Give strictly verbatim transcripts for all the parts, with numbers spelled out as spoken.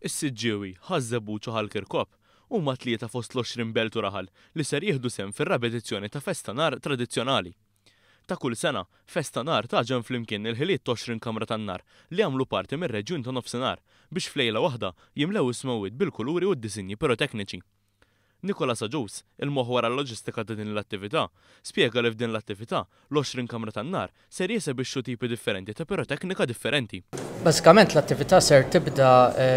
Is-Siġġiewi, Ħaż-Żebbuġ u Ħal Kirkop huma tlieta fost l-għoxrin belt u raħal li ser jieħdu sehem fir-raba' edizzjoni ta' Festa Nar tradizzjonali. Ta' kull sena, Festa Nar tagħġen flimkien il-ħiliet t'għoxrin kamra tan-nar li jagħmlu parti mir-reġjun ta' Nofsinhar biex f'lejla waħda jimlew is-smewwiet bil-kuluri u d-disinji pirotekniċi. Nicolas Agius, il-moħħ wara l-loġistika ta' din l-attività, spjega li f'din l-attività l-għoxrin kamra tan-nar ser jesebixxu tipi differenti ta' piroteknika differenti. Bażikament l-attività ser tibda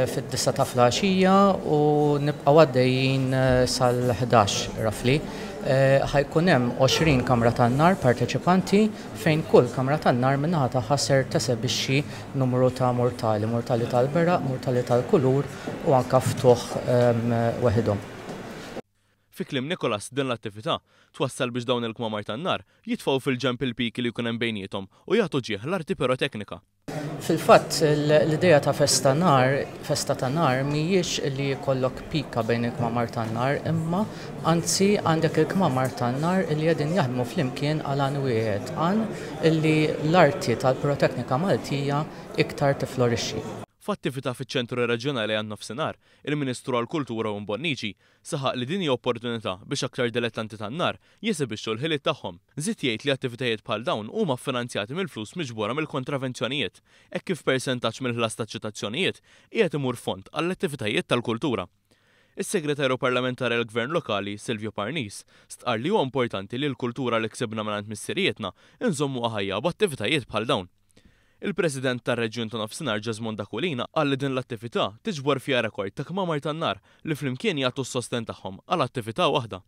fid-disgħa ta' filgħaxija u nibqgħu għaddejjin sal-ħdax roughly. Ħa jkun hemm għoxrin kamra tan-nar parteċipanti fejn kull kamra tan-nar min-naħa tagħha ser tesebixxi numru ta' murtali, murtali tal-beraq, murtali tal-kulur u anka ftuħ weħidhom. Fi kliem Nicolas, din l-attività twassal biex dawn il-kmamar tan-nar jitfgħu fil-ġenb il-piki li jkun hemm bejniethom u jagħtu ġieħ l-arti piroteknika. Fil-fatt, l-idea ta' festa nar, festa ta' nar mhijiex li jkollok pika bejn il-kmamar tan-nar, imma anzi għandek il-kmamar tan-nar li qegħdin jaħdmu flimkien għal għan wieħed, għan li l-arti tal-piroteknika Maltija iktar tiflorixxi. F'attività fiċ-Ċentru Reġjonali għan-Nofsinhar, il-Ministru għall-Kultura Owen Bonnici saħaq li din hija opportunità biex aktar dilettanti tan-nar jesibixxu l-ħiliet tagħhom. Żied jgħid li attivitajiet bħal dawn huma ffinanzjati mill-flus miġbura mill-kontravenzjonijiet, hekk kif persentaġġ mill-ħlas taċ-ċitazzjonijiet qiegħed imur fond għall-attivitajiet tal-kultura. Is-Segretarju Parlamentari għall-Gvern Lokali, Silvio Parnis, stqarr li huwa importanti li l-kultura li ksibna mingħand missirietna nżommuha ħajja b'attivitajiet bħal dawn. Il-President tar-Reġjun ta' Nofsinhar Jesmond Aquilina qal li din l-attività tiġbor fiha rekord ta' kmamar tan-nar li flimkien jagħtu s-sosten tagħhom għal attività waħda.